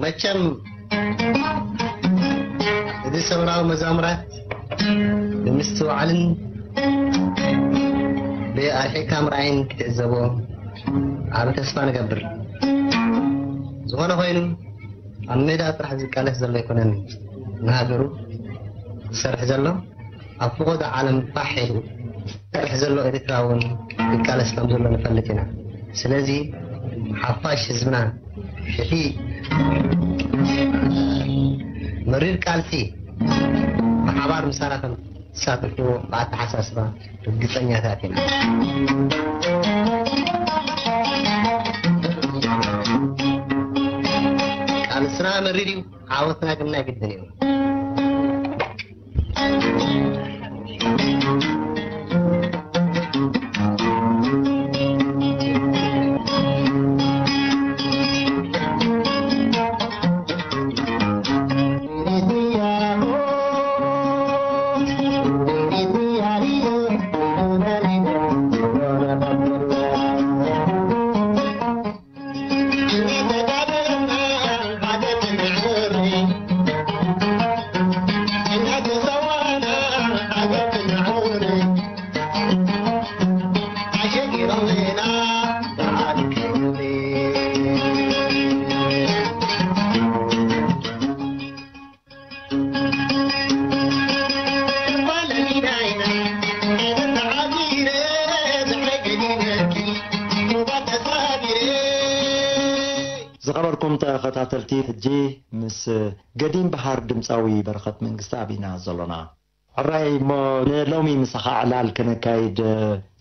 መቸም እዚ ሰውራዊ መዛሙራት ብምስትውዓልን ብኣርሒቕካ ምርኣይን ክትዕዘቦ ዓቢ ተስፋ ንገብር። ዝኾነ ኮይኑ ኣብ ሜዳ ጥራሕ ዝቃለስ ዘሎ ኣይኮነን፣ ንሃገሩ ዝሰርሕ ዘሎ፣ ኣብ ፍቖዶ ዓለም ፋሕ ኢሉ ዝሰርሕ ዘሎ ኤርትራ እውን ይቃለስ ከም ዘሎ ንፈልጥ ኢና። ስለዚ ሓፋሽ ህዝብና እቲ መሪር ቃልሲ ብሓባር ምሳና ከም ትሳተፍዎ ብኣተሓሳስባ ርግጸኛታት ኢና። ቃልስና መሪር እዩ፣ ዓወትና ግን ናይ ግድን እዩ። ዝኸበርኩም ተኸታተልቲ፣ ሕጂ ምስ ገዲም በሃር ድምፃዊ በረኸት መንግስተኣብ ኢና ዘሎና። ሕራይ እሞ ንሎሚ ምሳኻ ዕላል ከነካይድ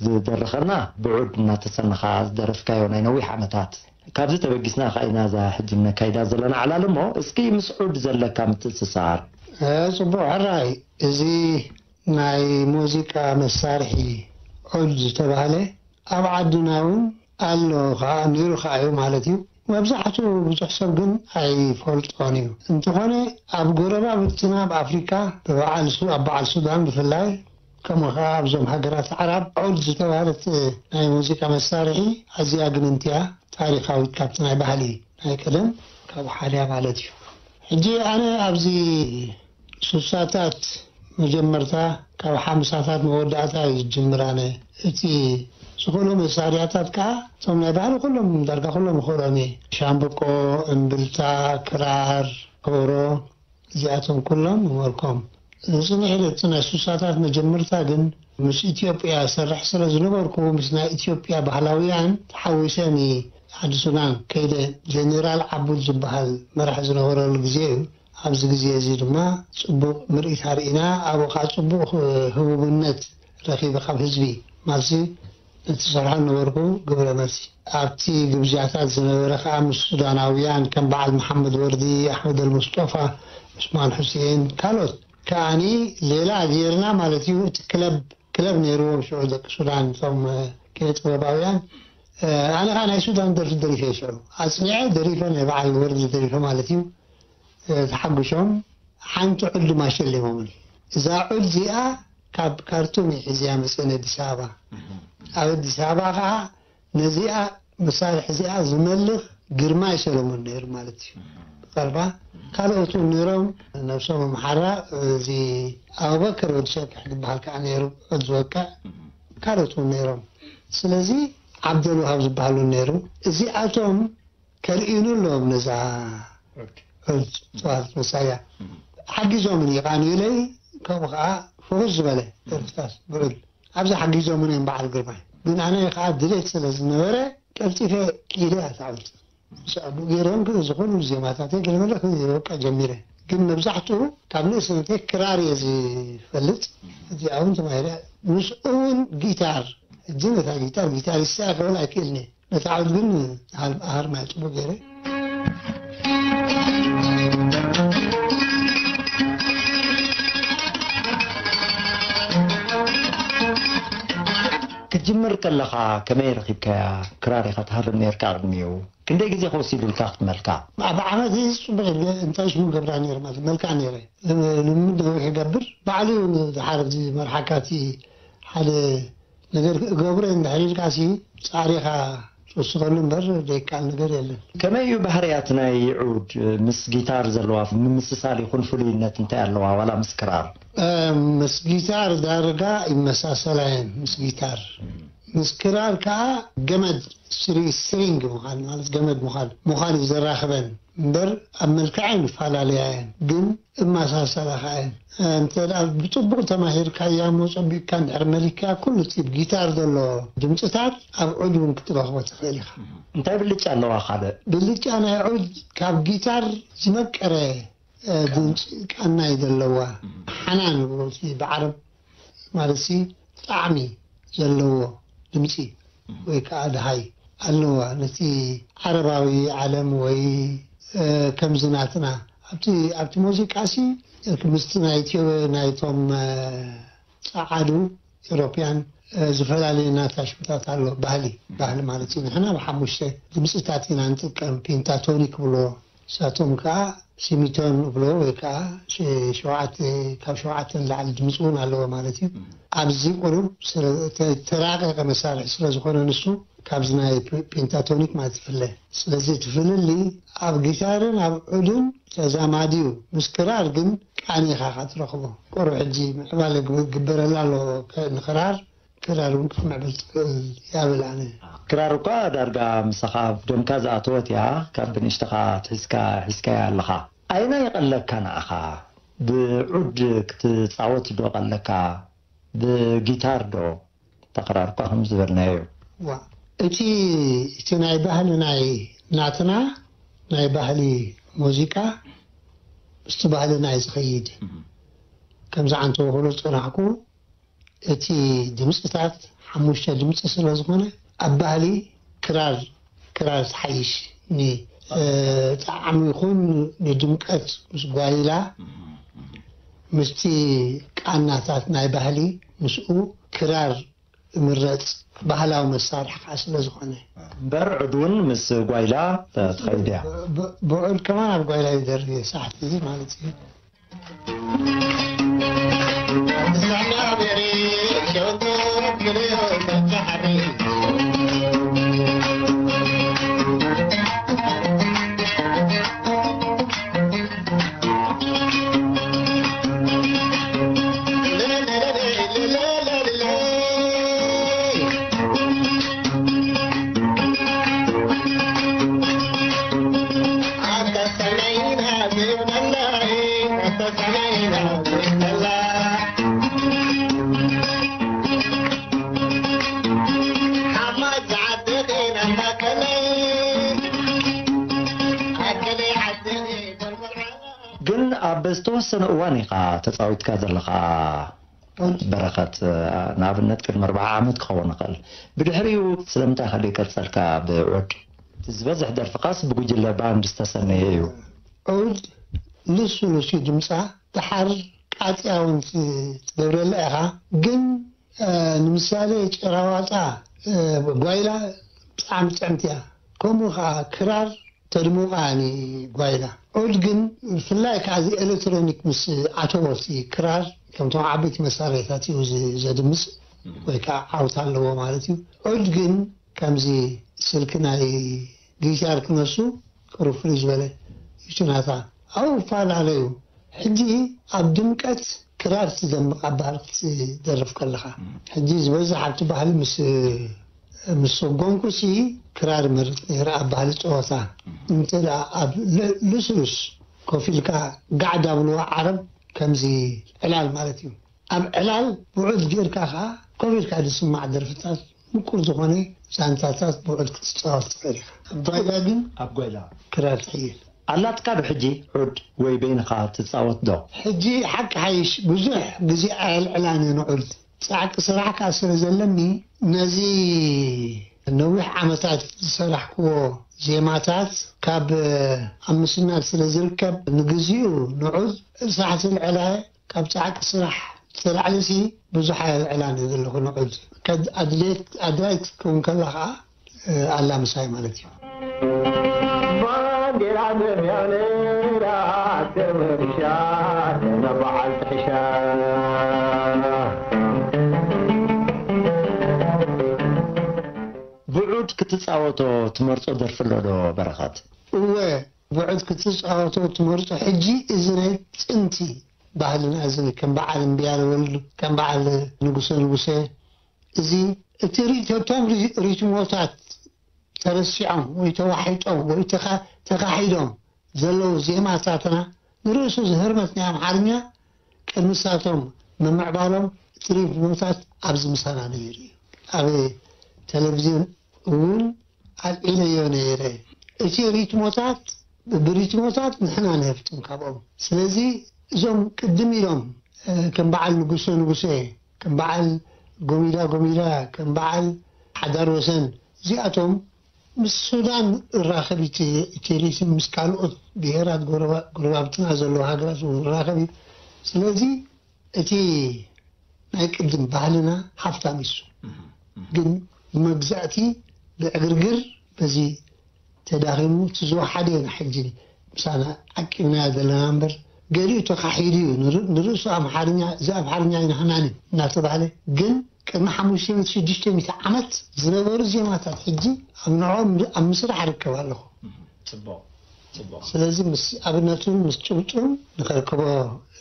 ዝደረኸና ብዑድ እናተሰነኻ ዝደረፍካዮ ናይ ነዊሕ ዓመታት። ካብዚ ተበጊስና ኸዓ ኢና እዛ ሕጂ ነካይዳ ዘለና ዕላል እሞ፣ እስኪ ምስ ዑድ ዘለካ ምትእስሳር። ጽቡቕ ሕራይ፣ እዚ ናይ ሙዚቃ መሳርሒ ዑድ ዝተባህለ ኣብ ዓድና እውን ኣሎ ኸዓ፣ ነይሩ ኸዓ እዩ ማለት እዩ። መብዛሕትኡ ብዙሕ ሰብ ግን ኣይፈልጦን እዩ። እንተኾነ ኣብ ጎረባብትና ኣብ ኣፍሪካ ብበዓል ሱ- ኣብ በዓል ሱዳን ብፍላይ ከምኡ ከዓ ኣብዞም ሃገራት ዓራብ ዑድ ዝተባህለት ናይ ሙዚቃ መሳርሒ ኣዝያ ግንንቲ እያ። ታሪኻዊት ካብቲ ናይ ባህሊ ናይ ቀደም ካብ ሓደ እያ ማለት እዩ። ሕጂ ኣነ ኣብዚ ሱሳታት መጀመርታ ካብ ሓምሳታት መወዳእታ እዩ ዝጅምር። ኣነ እቲ ዝኽእሎ መሳርያታት ከዓ እቶም ናይ ባህሊ ኩሎም ዳርጋ ኩሎም ይኽእሎም እየ። ሻምብቆ፣ እምብልታ፣ ክራር፣ ከበሮ እዚኣቶም ኩሎም ይመልኮም። ዝፅንሕ ኢለ እቲ ናይ ሱሳታት መጀመርታ ግን ምስ ኢትዮጵያ ሰርሕ ስለ ዝነበርኩ ምስ ናይ ኢትዮጵያ ባህላውያን ተሓዊሰን ዓዲ ሱዳን ከይደ። ጀኔራል ዓቡድ ዝበሃል መራሒ ዝነበረሉ ግዜ እዩ። ኣብዚ ግዜ እዚ ድማ ፅቡቕ ምርኢት ኣርኢና ኣብኡ ከዓ ፅቡቕ ህቡብነት ረኺበ ካብ ህዝቢ ማለትሲ ነቲ ዝሰርሖ ነበርኩ ግብረ መልሲ ኣብቲ ግብጃታት ዝነበረ ከዓ ምስ ሱዳናውያን ከም በዓል መሓመድ ወርዲ ኣሕመድ ኣልሙስጦፋ ዑስማን ሑሴን ካልኦት ከዓኒ ሌላ ጌርና ማለት እዩ እቲ ክለብ ክለብ ነይርዎም ሽዑ ደቂ ሱዳን እቶም ኪነ ጥበባውያን ኣነ ከዓ ናይ ሱዳን ደርፊ ደሪፈ ሽዑ ኣፅኒዐ ደሪፈ ናይ በዓል ወርዲ ደሪፈ ማለት እዩ ተሓጉሾም ሓንቲ ዑል ድማ ሸሊሞምን እዛ ዑል እዚኣ ካብ ካርቱም እዩ ሒዝያ መፅእን ኣዲስ ኣበባ ኣብ ኣዲስ ኣበባ ከዓ ነዚኣ መሳርሒ እዚኣ ዝመልኽ ግርማይ ሰለሙን ነይሩ ማለት እዩ ቀርባ ካልኦት እውን ነይሮም ነብሶም ኣምሓራ እዚ ኣቡበከር ወዲ ሸክሕ ዝበሃል ከዓ ነይሩ ዑል ዝወቅዕ ካልኦት እውን ነይሮም ስለዚ ዓብደልውሃብ ዝበሃሉ ነይሩ እዚኣቶም ከርእዩኒ ኣለዎም ነዛ ዑል ተዋህት መሳርያ ሓጊዞምን ይቃንዩለይ ከምኡ ከዓ ፍኹስ ዝበለ ደርፍታት ብዑል ኣብዚ ሓጊዞምን እዮም በዓል ግርማይ ግን ኣነ ከዓ ድሌት ስለ ዝነበረ ቀልጢፈ ኢለ ኣታዕብልቲ ምስ ኣቡ ገይሮም ግን እዚ ኩሉ ዜማታተይ ገለመለ ክወቅዕ ጀሚረ ግን መብዛሕትኡ ካብ ንእስነተይ ክራር እየ ዝፈልጥ እዚኣ እውን ተማሂረ ምስኡ እውን ጊታር ሕጂ ነታ ጊታር ጊታሪስት እያ ክብል ኣይክእልን እየ ነታ ዓውድ ግን ሃርማይ ፅቡቅ ገይረ ክትጅምር ከለኻ ከመይ ረኺብካያ? ክራር ኢኻ ትሃርም ነርካ ቅድሚኡ። ክንደይ ግዜ ከወሲዱልካ ክትመልካ? ኣብ ዓመት እዚ ጽቡቕ ኢለ እንታይ ሽሙ ገብራ ነይረ ማለት መልክዓ ነይረ። ልምምድ ነዊሕ ይገብር። ባዕሉ እዩ ድሓር እዚ መርሓካ እቲ ሓደ ነገር እገብሮ እንድሕር ኢልካ ሲ ጻዕሪኻ ወስኸሉ እምበር ዘይከኣል ነገር የለን። ከመይ እዩ ባህርያት ናይ ዑድ? ምስ ጊታር ዘለዋ ምምስሳል ይኹን ፍሉይነት እንታይ ኣለዋ? ዋላ ምስ ክራር? እ፣ ምስ ጊታር ዳርጋ ይመሳሰላ እየን። ምስ ጊታር፣ ምስ ክራር ከዓ ገመድ፣ ስሪ ስትሪንግ ምዃን ማለት ገመድ ምዃን ምዃን እዩ ዘራኽበን እምበር ኣብ መልክዐን ይፈላለያ እየን፣ ግን እመሳሰላ ከዓ እየን። እንተ ደኣ ብፅቡቕ ተማሂርካያ እሞ ፀቢቕካ እንድሕር መሊክካ ኩሉ እቲ ጊታር ዘሎ ድምፅታት ኣብ ዑድ እውን ክትረኽቦ ትኽእል ኢኻ። እንታይ ብልጫ ኣለዋ ካልእ? ብልጫ ናይ ዑድ ካብ ጊታር ዝመቀረ፣ እ፣ ድምፂ ቃና እዩ ዘለዋ። ሓናን ይብሉ እቲ ብዓረብ ማለት ሲ ጣዕሚ ዘለዎ ድምፂ ወይ ከዓ ደሃይ ኣለዋ። ነቲ ዓረባዊ ዓለም ወይ፣ እ፣ ከምዚ ናትና ኣብቲ፣ ኣብቲ ሙዚቃ ሲ ምስቲ ናይ ኢትዮ-፣ ናይቶም፣ እ፣ ጸዓዱ ኤሮፕያን፣ እ፣ ዝተፈላለየ ናታ ሽምታት ኣሎ። ባህሊ፣ ባህሊ ማለት እዩ። ንሕና ብሓሙሽተ ድምፅታት ኢና ንጥቀም፣ ፔንታቶኒክ ብሎ፣ ንሳቶም ከዓ ሲሚቶን ብሎ ወይ ከዓ ሸ-፣ ሸውዓተ፣ ካብ ሸውዓተ ንላዕሊ ድምፂ እውን ኣለዎ ማለት እዩ። ኣብዚ ቁሩብ ስለ-፣ ተ-፣ ተራቀቀ መሳርሒ ስለ ዝኾነ ንሱ ካብዚ ናይ ፔ-፣ ፔንታቶኒክ ማለት ይፍለ። ስለዚ እቲ ፍልልይ ኣብ ጊታርን ኣብ ዑድን ተዛማዲ እዩ። ምስ ክራር ግን ቃኒ ኢኻ ትረኽቦ። ቁሩብ ሕጂ ምዕባለ ግብ-፣ ግበረላ ኣሎ ከ-፣ ንክራር፣ ክራር እውን ክትምዕብል ትኽእል እያ ብል ኣነ። ክራር እኳ ዳርጋ ምሳኻ ኣብ ደምካ ዝኣተወት እያ፣ ካብ ብንእሽተኻ ኣትሒዝካ ሒዝካያ ኣለኻ። ኣየናይ ይቐለካ ንዓኻ? ብዑድ ክትጻወት ዶ ቀለካ? ብጊታር ዶ? እታ ክራር እኳ ከም ዝበልናዮ እዩ። ዋ፣ እቲ፣ እቲ ናይ ባህሊ ናይ ናትና ናይ ባህሊ ሙዚቃ ምስቲ ባህልና እዩ ዝኸይድ። ከምዚ ዓንተቦ ክብሎ ዝጸናሕኩ፣ እቲ ድምፅታት ሓሙሽተ ድምፂ ስለ ዝኾነ ኣብ ባህሊ ክራር፣ ክራር ትሓይሽ። ን-፣ እ፣ ጣዕሚ ይኹን ንድምቀት ምስ ጓይላ ምስቲ ቃናታት ናይ ባህሊ ምስኡ ክራር ይምረፅ፣ ባህላዊ መሳርሒ ከዓ ስለ ዝኾነ። እምበር ዑድ እውን ምስ ጓይላ ተ-፣ ትኸይድ እያ። ብ-፣ ብ-፣ ብዑድ ከማን ኣብ ጓይላ ይደርፍ እየ፣ ሳሕቲ ማለት እዩ። ግን ኣብ ዝተወሰነ እዋን ኢኻ ተጻዊትካ ዘለኻ። በረኸት፣ ንኣብነት ቅድሚ ኣርብዓ ዓመት ክኸውን ይኽእል። ብድሕሪኡ ስለምንታይ ከ ዘይቀጸልካ ብዑድ? እቲ ዝበዝሕ ደርፍኻስ ብጉጅለ ባንድ ዝተሰነየ እዩ። ዑድ ልስሉስ እዩ ድምጻ፣ ደሓር ቃጽያ እውን ት-፣ ትገብረላ ኢኻ። ግን፣ እ፣ ንምሳሌ ጭራዋጣ፣ እ፣ ጓይላ ብጣዕሚ ጥዕምቲ እያ። ከምኡ ኸዓ ክራር ተድምቓ ጓይላ። ዑድ ግን ብፍላይ ከዓ እዚ ኤሌክትሮኒክ ምስ ኣተወ እቲ ክራር ከምቶም ዓበይቲ መሳርሒታት እዩ ዝ-፣ ዘድምፅ ወይ ከዓ ዓውታ ኣለዎ ማለት እዩ። ዑድ ግን ከምዚ ስልኪ ናይ ጊታር ክነሱ ቅሩብ ፍልይ ዝበለ እዩ ናታ። ኣብኡ ይፈላለዩ። ሕጂ ኣብ ድምቀት ክራር ትደምቕ ኣብ ባህሊ ክትደርፍ ከለኻ። ሕጂ ዝበዝሕ ኣብቲ ባህሊ ምስ ምስ ሰጎምኩሲ ክራር መርጽ ነይረ ኣብ ባህሊ ጸወታ። እንተ ደኣ ኣብ ል-፣ ልስሉስ ኮፍ ኢልካ ጋዕ ዳብልዋ ዓረብ ከምዚ ዕላል ማለት እዩ። ኣብ ዕላል ብዑድ ጌርካ ከኣ ኮፍ ኢልካ ዝስማዕ ደርፍታት ምቁር ዝኾነ ዛንታታት ብዑድ ክትጻወት ትኽእል ኢኻ። ኣብ ጓይላ ግን ኣብ ጓይላ ክራር ትሕይል። ኣላትካ ዶ ሕጂ ዑድ ወይ በይንኻ ትጻወት ዶ? ሕጂ ሓቂ ሓይሽ ብዙሕ ግዜ ኣየልዕላን እየ ንዑድ። ጻዕቂ ስራሕ ከኣ ስለ ዘለኒ፣ ነዚ ነዊሕ ዓመታት ዝሰራሕክዎ ዜማታት ካብ ኣብ ምስናድ ስለ ዝርከብ፣ ንግዚኡ ንዑድ ሳሕቲ ልዕላ ካብ ጻዕቂ ስራሕ ዝተላዕለሲ ብዙሕ ኣየልዕላን እየ ዘለኹ ንዑድ። ከድ-፣ ኣድልየት፣ ኣድላይት ክትከውን ከላ ከኣ ኣላ ምሳይ ማለት እዩ። ባንዴራ ዘርያ ነይራ ተመርሻ፣ ነባዓል ጥሕሻ። ብዑድ ክትጻወቶ ትመርጾ ደርፊ ኣሎ ዶ በረኸት? እወ፣ ብዑድ ክትጻወቶ ትመርጾ። ሕጂ እዚ ናይ ጥንቲ ባህልና፣ እዚ ከም በዓል እምብያለ ወልዱ፣ ከም በዓል ንጉሰ ንጉሰ፣ እዚ እቲ ሪቶቶም ሪ-፣ ሪትሞታት ተረሲዖም ወይ ተዋሒጦም ወይ ተኻ-፣ ተኻሒዶም ዘለዉ ዜማታትና ንርእሱ ዝህርመት ናይ ኣምሓርኛ ቅድሚ ሳቶም ምምዕባሎም እቲ ሪትሞታት ኣብዚ ምሳና ነይሩ እዩ። ኣብ ቴሌቪዝን እውን ኣልዒለዮ ነይረ። እቲ ሪትሞታት፣ ብሪትሞታት ንሕና ንህፍትም ካብኦም። ስለዚ እዞም ቅድም ኢሎም፣ እ፣ ከም በዓል ንጉሰ ንጉሰ፣ ከም በዓል ጎሚዳ ጎሚዳ፣ ከም በዓል ሓዳር ወሰን፣ እዚኣቶም ምስ ሱዳን እራኸብ እቲ፣ እቲ ሪትም ምስ ካልኦት ብሄራት ጎረባ-፣ ጎረባብትና ዘለዋ ሃገራት እውን እራኸብ እዩ። ስለዚ እቲ ናይ ቅድም ባህልና ሃፍታም እዩ። ግን ብመግዛእቲ ብዕግርግር በዚ ተዳኺሙ እቲ ዝወሓደ ኢና ሕጂ ምሳና ዓቂብናዮ ዘለና እምበር ገሊኡ ተኻሒዱ እዩ። ንር-፣ ንርእሱ ኣምሓርኛ፣ እዚ ኣምሓርኛ ኣይንሃናን እዩ እናተባህለ፣ ግን ቅድሚ ሓሙሽተ ሚእቲ ሽዱሽተ ሚእቲ ዓመት ዝነበሩ ዜማታት ሕጂ ኣብ ንዕኦም ኣብ ምስራሕ ርከብ ኣለኹ። ጽቡቕ፣ ጽቡቕ። ስለዚ ምስ ኣብነቱን ምስ ጭብጡን ንኸርክቦ፣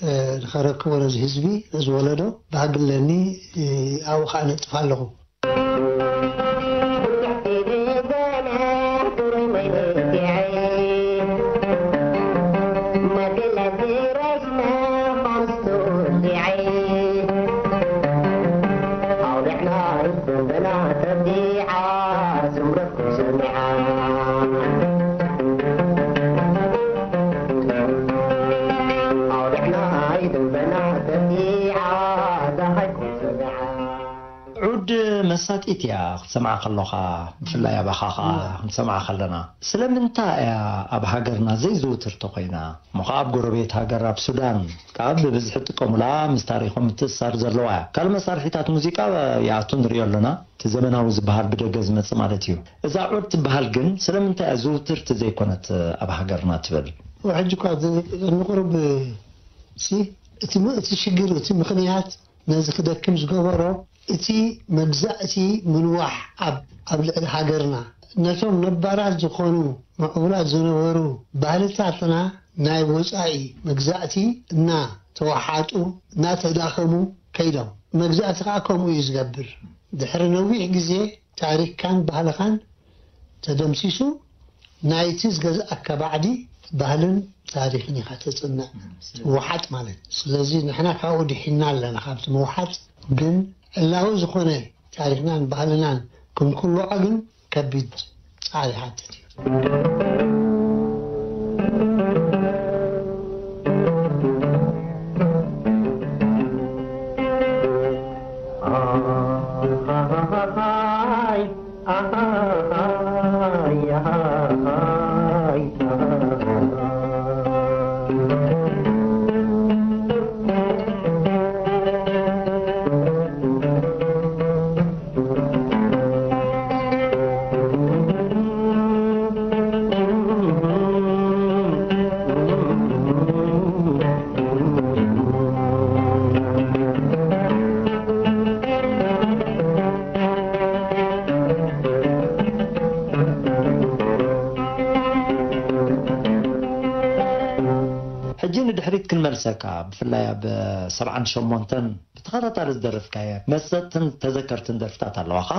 እ፣ ንኸረክቦ ነዚ ህዝቢ፣ ነዚ ወለዶ ባህጊ ኣለኒ፣ እ፣ ኣብኡ ኸኣ ነጥፍ ኣለኹ። ዑድ መሳጢት እያ ክትሰምዓ ከለኻ፣ ብፍላይ ኣባኻ ኸዓ ክንሰምዓ ከለና። ስለምንታይ እያ ኣብ ሃገርና ዘይዝውትር ተኾይና? እሞ ኸዓ ኣብ ጎረቤት ሃገር ኣብ ሱዳን ከኣ ብብዝሒ ጥቀሙላ፣ ምስ ታሪኾም ምትእስሳር ዘለዋ እያ። ካልእ መሳርሒታት ሙዚቃ ይኣቱ ንሪኦ ኣሎና፣ እቲ ዘመናዊ ዝበሃል ብደገ ዝመጽእ ማለት እዩ። እዛ ዑድ ትበሃል ግን ስለምንታይ እያ ዝውትርቲ ዘይኮነት ኣብ ሃገርና ትብል? ሕጂ እኳ ዝ-፣ ንቁሩብ ሲ፣ እቲ ም-፣ እቲ ሽግር፣ እቲ ምኽንያት ነዚ ክደክም ዝገበሮ እቲ መግዛእቲ ምንዋሕ ኣብ፣ ኣብ ልዕሊ ሃገርና፣ ነቶም ነባራት ዝኾኑ ምዕቡላት ዝነበሩ ባህልታትና ናይ ወጻኢ መግዛእቲ እናተወሓጡ፣ እናተዳኸሙ ከይዶም። መግዛእቲ ከኣ ከምኡ እዩ ዝገብር። ድሕሪ ነዊሕ ግዜ ታሪኽካን ባህልኻን ተደምሲሱ፣ ናይቲ ዝገዝኣካ ባዕዲ ባህልን ታሪኽን ኢኻ ተጽንዕ፣ ምውሓጥ ማለት። ስለዚ ንሕና ካብኡ ድሒና ኣለና፣ ካብቲ ምውሓጥ። ግን ዕላዊ ዝኾነ ታሪኽናን ባህልናን ክንኩልዖ ግን ከቢድ ጻዕሪ ይሓትት እዩ። ሕጂ ንድሕሪት ክንመልሰካ፣ ብፍላይ ኣብ ሰብዓን ሸሞንተን ብተኸታታሊ ዝደረፍካየ መሰጥትን ተዘከርትን ደርፍታት ኣለዋኻ።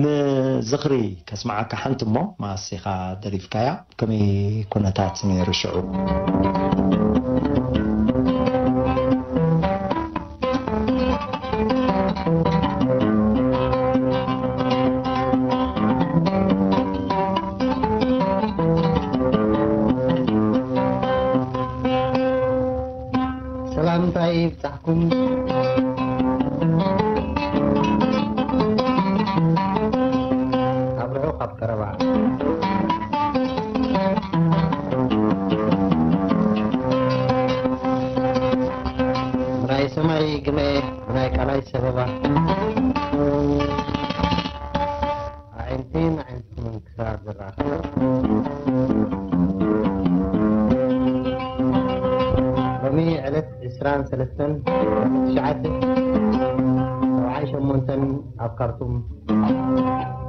ንዝኽሪ ከስምዓካ ሓንቲ እሞ፣ መኣስ ኢኻ ደሪፍካያ? ከመይ ኩነታት ነይሩ ሽዑ? ሰላምታይ ይብጻሕኩም። ካብ ርሑቕ ኣብ ቀረባ። ብናይ ሰማይ ግመ፣ ብናይ ቃላይ ሰበባ። ኣዒንተይን ኣዒንትኹምን ክሳብ ዝራኸባ። ሎሚ ዕለት ዕስራን ሰለስተን ትሽዓተ ሰብዓን ሸሞንተን ኣብ ካርቱም፣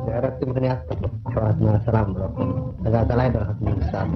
ድሕሪ በረቲ ምኽንያት ኣሕዋትና ሰላም ብለኩም። ተጋዳላይ በረኸት መንግስታት።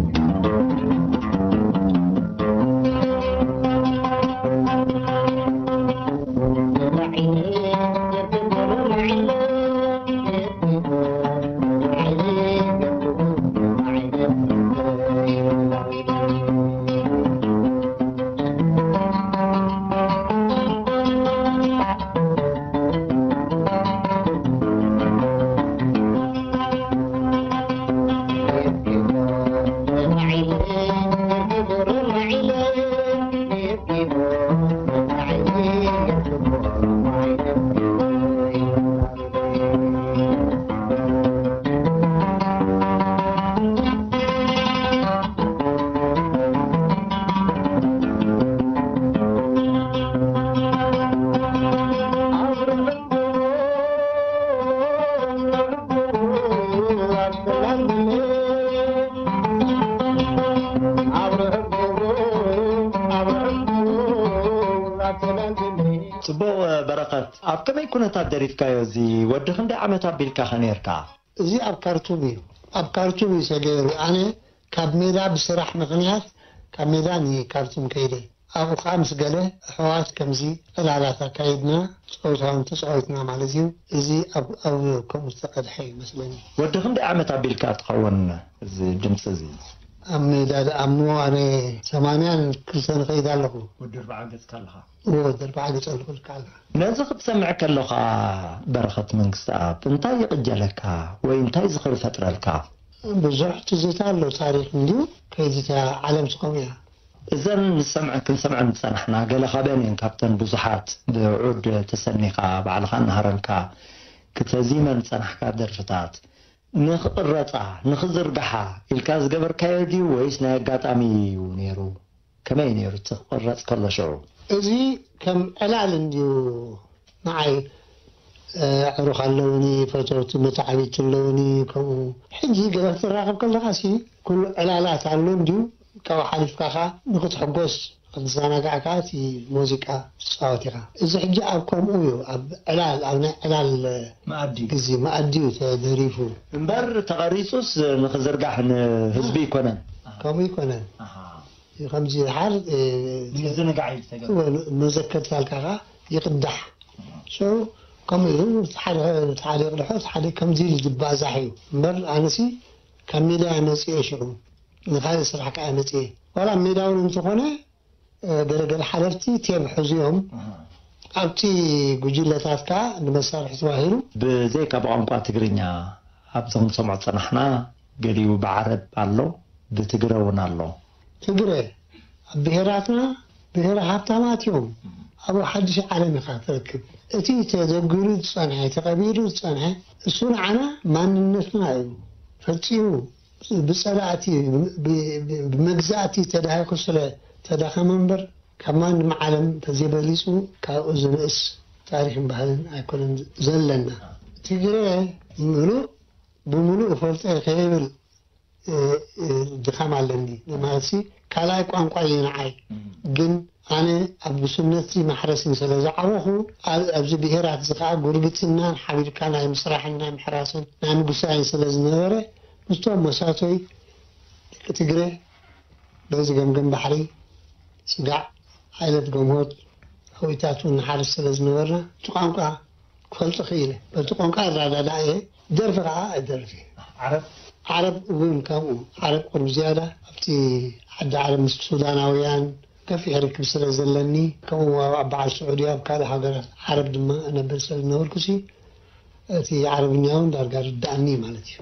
ጽቡቕ በረኸት፣ ኣብ ከመይ ኩነታት ደሪፍካዮ? እዚ ወዲ ክንደይ ዓመት ኣቢልካ ኸ ነርካ? እዚ ኣብ ካርቱም እዩ። ኣብ ካርቱም እዩ ተገይሩ። ኣነ ካብ ሜዳ ብስራሕ ምኽንያት ካብ ሜዳ ንካርቱም ከይደ። ኣብኡ ከዓ ምስ ገለ ኣሕዋት ከምዚ ዕላላት ኣካይድና፣ ጸወታውን ተጻዊትና ማለት እዩ። እዚ ኣብ ኣብ ከምኡ ዝተቐድሐ ይመስለኒ። ወዲ ክንደይ ዓመት ኣቢልካ ትኸውን እዚ ድምፂ እዚ? ኣብ ሜዳ ደኣ እሞ ኣነ ሰማንያን ክልተን እኸይድ ኣለኹ። ወዲ ኣርብዓ ገጽካ ኣለኻ? እዎ፣ ወዲ ኣርብዓ ገጽ ኣለኹ ኢልካ ኣለኻ። ነዚ ክትሰምዕ ከለኻ በረኸት መንግስተኣብ እንታይ ይቕጀለካ ወይ እንታይ ዝኽሪ ፈጥረልካ? ብዙሕ ትዝታ ኣሎ፣ ታሪኽ እንድዩ። ከይዚ እታ ዓለም ትኸም እያ። እዘን ንሰምዐን ክንሰምዐን ዝጸናሕና ገለ ካብአን እየን፣ ካብተን ብዙሓት ብዑድ ተሰኒኻ ባዕልኻ እናሃረምካ ክተዚመን ዝጸናሕካ ደርፍታት። ንኽቕረጻ፣ ንኽዝርግሓ ኢልካ ዝገበርካዮ ድዩ ወይስ ናይ ኣጋጣሚ እዩ ነይሩ? ከመይ ነይሩ እቲ ክቕረጽ ከሎ ሽዑ? እዚ ከም ዕላል እንድዩ ንዓይ፣ እ፣ ኣዕሩኽ ኣለውኒ፣ ፈተውቲ መታዕቢቲ ኣለውኒ፣ ከምኡ። ሕጂ ገለ ክትራኸብ ከለኻሲ ኩሉ ዕላላት ኣሎ እንድዩ፣ ካብኡ ሓሊፍካ ኸኣ ንኽትሕጎስ፣ ክትዘናጋዕ ከኣ እቲ ሙዚቃ ትጻወት ኢኻ። እዚ ሕጂ ኣብ ከምኡ እዩ፣ ኣብ ዕላል፣ ኣብ ናይ ዕላል መኣዲ። ግዜ መኣዲ እዩ ተደሪፉ። እምበር ተቐሪጹስ ንኽዝርጋሕ ንህዝቢ ኣይኮነን። ከምኡ ኣይኮነን። ኣሃ። ከምዚ ድሓር፣ እ፣ ንምዝንጋዕ እዩ ዝተገብረ። እወ፣ መዘከርታ ኣልካ ኸዓ ይቕዳሕ። ሽዑ ከምኡ ኢሉ እቲ ሓደ፣ እቲ ሓደ ይቕድሖ፣ እቲ ሓደ ከምዚ ኢሉ ዝባዛሕ እዩ። እምበር ኣነሲ ካብ ሜዳ እየ መጺኤ ሽዑ። ንኻልእ ስራሕ ከኣ መጺኤ። ዋላ ሜዳ እውን እንተኾነ፣ እ፣ ገለገለ ሓለፍቲ ቴብ ሕዙ እዮም። ኣሃ። ኣብቲ ጉጅለታት ከኣ ንመሳርሒ ተባሂሉ። ብዘይካ ብቋንቋ ትግርኛ ኣብዞም ንሰምዖ ዝጸናሕና ገሊኡ ብዓረብ ኣሎ፣ ብትግረ እውን ኣሎ። ትግረ ኣብ ብሄራትና ብሄረ ሃብታማት እዮም። ኣብኡ ሓድሽ ዓለም ኢኻ ትረክብ። እቲ ተዘጊሩ ዝጸንሐ፣ ተቐቢሩ ዝጸንሐ፣ እሱ ንዓና ማንነትና እዩ። ፈጺሙ ብጸላእቲ፣ ብ-፣ ብ-፣ ብመግዛእቲ ተዳሂኹ ስለ ተዳኸመ እምበር፣ ካብ ማንም ዓለም ተዘይበሊጹ ካብኡ ዝንእስ ታሪኽን ባህልን ኣይኮነን ዘለና። ትግረ ምሉእ ብምሉእ እፈልጦ እየ ከይብል፣ እ፣ እ፣ ድኻም ኣለኒ። ማለትሲ ካልኣይ ቋንቋ እዩ ንዓይ። እም። ግን ኣነ ኣብ ጉስነትሲ ማሕረስን ስለ ዝዓበኹ፣ ኣብ-፣ ኣብዚ ብሄራት እዚ ኸዓ ጉርብትናን ሓቢርካ ናይ ምስራሕን ናይ ምሕራስን ናይ ምጉሳይን ስለ ዝነበረ፣ ምስቶም መሳቶይ ደቂ ትግረ በዚ ገምገም ባሕሪ፣ ስጋዕ፣ ዓይነት ገምሆት፣ ኣዊታት እውን ንሓርስ ስለ ዝነበርና፣ እቲ ቋንቋ ክፈልጦ ክኢለ። በቲ ቋንቋ እረዳዳእ እየ። ደርፊ ኸዓ እደርፍ እየ። ዓረብ? ዓረብ እውን ከምኡ። ዓረብ ቁሩብ ዝያዳ ኣብቲ ዓዲ ዓረብ ምስ ሱዳናውያን ገፊሕ ርክብ ስለ ዘለኒ፣ ከምኡ ኣብ በዓል ስዑድያ፣ ኣብ ካልእ ሃገራት ዓረብ ድማ እነብር ስለ ዝነበርኩሲ፣ እቲ ዓረብኛ እውን ዳርጋ ርድኣኒ ማለት እዩ።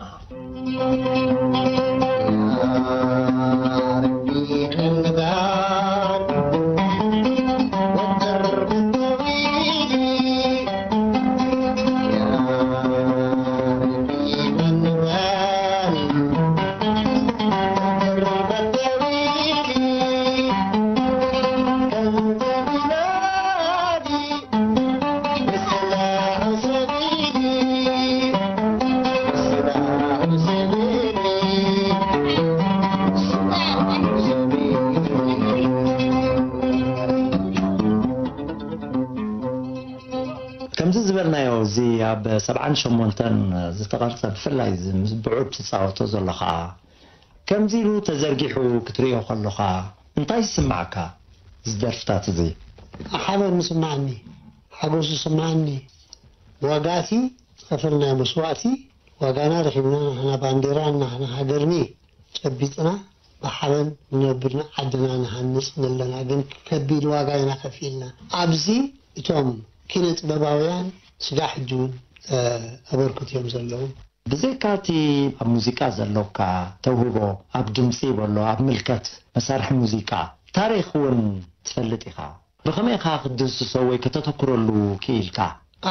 እዚ ኣብ ሰብዓን ሸሞንተን ዝተቐርጸ፣ ብፍላይ እዚ ምስ ብዑድ ትጻወቶ ዘሎ ኸኣ፣ ከምዚ ኢሉ ተዘርጊሑ ክትርእዮ ከሎኻ እንታይ ይስምዓካ? እዚ ደርፍታት እዚ። ሓበን ይስምዓኒ፣ ሓጎስ ይስምዓኒ። ዋጋቲ ዝኸፈልናዮ መስዋእቲ፣ ዋጋና ረኺብና፣ ናህና ባንዴራን ናህና ሃገርኒ ጨቢጥና ብሓበን ንነብር፣ ንዓድና ንሃንጽ ኣለና። ግን ከቢድ ዋጋ ኢና ከፊልና። ኣብዚ እቶም ኪነ ጥበባውያን ስጋዕ ሕጂ እውን፣ እ፣ ኣበርክት እዮም ዘለዉ። ብዘይካ እቲ ኣብ ሙዚቃ ዘሎካ ተውህቦ፣ ኣብ ድምጺ በሎ፣ ኣብ ምልከት መሳርሒ ሙዚቃ፣ ታሪኽ እውን ትፈልጥ ኢኻ። ብኸመይ ኢኻ ክትድህስሶ ወይ ከተተኩረሉ ክኢልካ?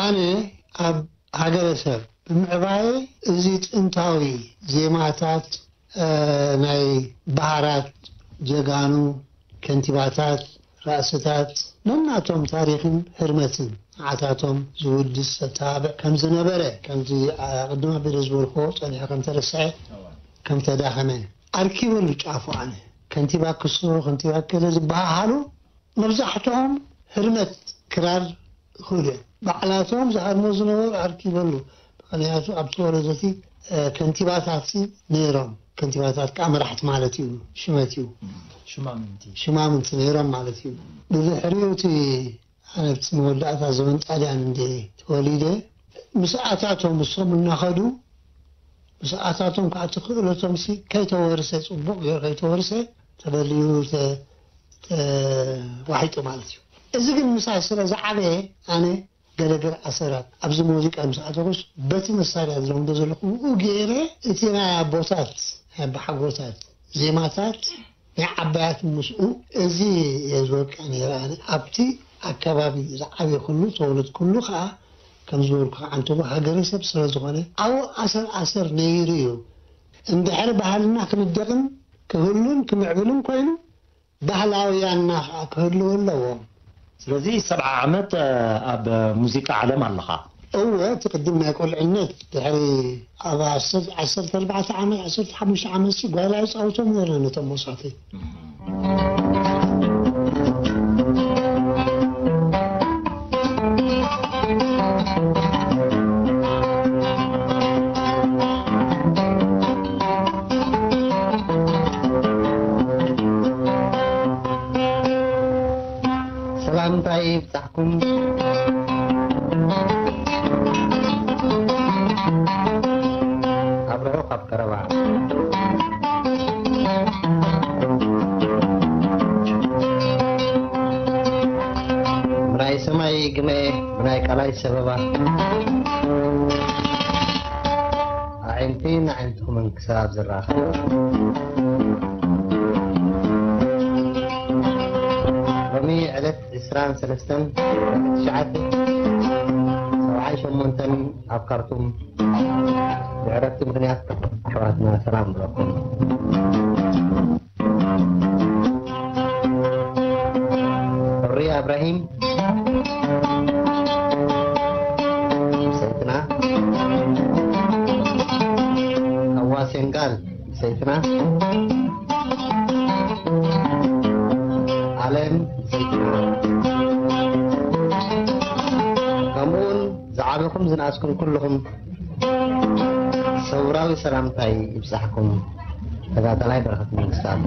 ኣነ ኣብ ሃገረሰብ ብምዕባየ፣ እዚ ጥንታዊ ዜማታት፣ እ፣ ናይ በሃራት ጀጋኑ፣ ከንቲባታት፣ ራእስታት፣ ነናቶም ታሪኽን ህርመትን ንዓታቶም ዝውድስ ዘተባብዕ ከም ዝነበረ፣ ከምዚ ኣቕድም ኣቢለ ዝበልክዎ ጸኒሑ ከም ተረስዐ፣ ከም ተዳኸመ፣ ኣርኪበሉ ጫፉ ኣነ። ከንቲባ ክሶ፣ ከንቲባ ከለ ዝበሃሃሉ፣ መብዛሕትኦም ህርመት ክራር ይኽእሉ እዮም። ባዕላቶም ዝሃርሞ ዝነበሩ ኣርኪበሉ። ምኽንያቱ ኣብቲ ወረዳ እቲ፣ እ፣ ከንቲባታት ነይሮም። ከንቲባታት ከዓ መራሕቲ ማለት እዩ፣ ሽመት እዩ። ሽማምንቲ። ሽማምንቲ ነይሮም ማለት እዩ። ብድሕሪኡ እቲ ኣነ ኣብቲ መወዳእታ ዘመን ጣልያን እንደ ተወሊደ፣ ምስ ኣታቶም እሶም እናኸዱ፣ ምስ ኣታቶም ከዓ እቲ ክእለቶም ሲ ከይተወርሰ፣ ጽቡቕ ገይሩ ከይተወርሰ፣ ተበሊዩ፣ ተ-፣ ተዋሒጡ ማለት እዩ። እዚ ግን ምሳይ ስለ ዝዓበየ፣ ኣነ ገለገለ ኣሰራት ኣብዚ ሙዚቃ ምስ ኣተኹስ፣ በቲ መሳርያ ዝለምዶ ዘለኹ ብኡ ገይረ፣ እቲ ናይ ኣቦታት፣ ናይ ኣቦሓጎታት ዜማታት፣ ናይ ዓባያት ምስኡ፣ እዚ እየ ዝወቅዕ ነይረ ኣነ። ኣብቲ ኣከባቢ ዝዓበየ ኩሉ፣ ተወለድኩሉ ከዓ፣ ከም ዝበልኩ፣ ዓንተቦ ሃገረሰብ ስለ ዝኾነ፣ ኣብኡ ኣሰር ኣሰር ነይሩ እዩ። እንድሕር ባህልና ክንደቕን ክህሉን ክምዕብልን ኮይኑ፣ ባህላውያንና ከዓ ክህልዉ ኣለዎም። ስለዚ ሰብዓ ዓመት፣ እ፣ ኣብ ሙዚቃ ዓለም ኣለኻ። እወ፣ እቲ ቅድም ናይ ቁልዕነት፣ ድሕሪ ኣብ ዓሰርተ፣ ዓሰርተ ኣርባዕተ ዓመት፣ ዓሰርተ ሓሙሽተ ዓመት ሲ ጓይላ ይጻወቶም ነይረ ነቶም መሳተይ። ሰላምታይ ይብጻሕኩም። ኣብ ርሑቕ ኣብ ቀረባ። ብናይ ሰማይ ግመ፣ ብናይ ቃላይ ሰበባ፣ ኣዒንቲ ንዓይንትኹምን ክሳብ ዝራኸባ። ሎሚ ዕለት ዕስራን ሰለስተን ትሽዓተ ሰብዓን ሸሞንተን ኣብ ካርቱም ብዕረፍቲ ምኽንያት ኣሕዋትና ሰላም ብለኩም። ሑርያ እብራሂም ሰይትና፣ ሃዋ ሴንጋል ሰይትና፣ ኣለም ሰይትና፣ ከምኡውን ዝዓበኹም ዝነኣስኩም ኩልኹም ሰውራዊ ሰላምታይ ይብጻሕኩም። ተጋዳላይ በረኸት መንግስታብ።